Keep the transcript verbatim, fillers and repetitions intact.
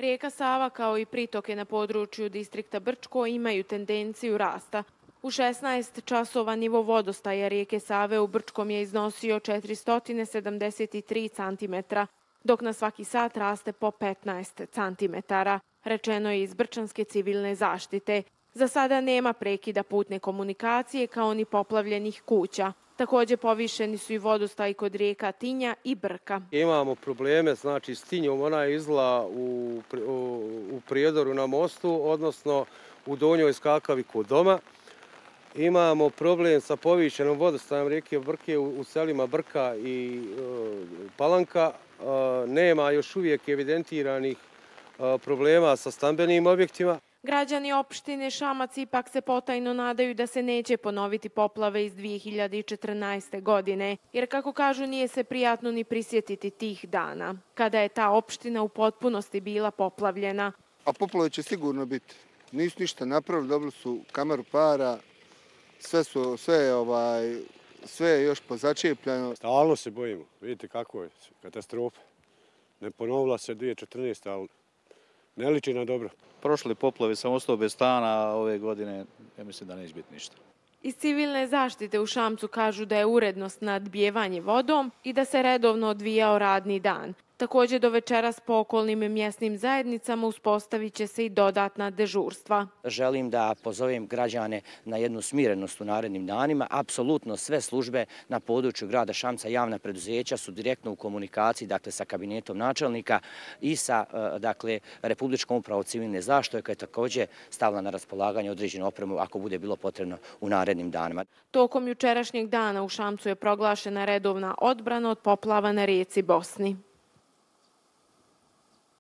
Rijeka Sava kao i pritoke na području distrikta Brčko imaju tendenciju rasta. U šesnaest časova nivo vodostaja rijeke Save u Brčkom je iznosio četiristo sedamdeset tri centimetra, dok na svaki sat raste po petnaest centimetara, rečeno je iz Brčanske civilne zaštite. Za sada nema prekida putne komunikacije kao ni poplavljenih kuća. Također povišeni su i vodostaji kod rijeka Tinja i Brka. Imamo probleme, znači s Tinjom, ona je izla u, u, u Prijedoru na mostu, odnosno u Donjoj Skakavi kod doma. Imamo problem sa povišenom vodostajem rijeke Brke u, u selima Brka i e, Palanka. E, nema još uvijek evidentiranih e, problema sa stambenim objektima. Građani opštine Šamac ipak se potajno nadaju da se neće ponoviti poplave iz dvije hiljade četrnaeste. godine, jer kako kažu nije se prijatno ni prisjetiti tih dana, kada je ta opština u potpunosti bila poplavljena. A poplave će sigurno biti. Nisu ništa napravili, dobili su kameru para, sve, su, sve, je, ovaj, sve je još pozačepljeno. Stalno se bojimo, vidite kako je, katastrofa. Ne ponovila se dvije hiljade četrnaeste. ali ne liči na dobro. Prošli poplavi sam ostao bez stana, a ove godine ja mislim da neće biti ništa. Iz civilne zaštite u Šamcu kažu da je urednost nadbijevanje vodom i da se redovno odvijao radni dan. Također do večeras po okolnim mjesnim zajednicama uspostavit će se i dodatna dežurstva. Želim da pozovem građane na jednu smirenost u narednim danima. Apsolutno sve službe na području grada Šamca, javna preduzeća su direktno u komunikaciji, dakle, sa kabinetom načelnika i sa dakle, Republičkom upravom civilne zaštite, koja je također stavila na raspolaganje određenu opremu ako bude bilo potrebno u narednim danima. Tokom jučerašnjeg dana u Šamcu je proglašena redovna odbrana od poplava na rijeci Bosni.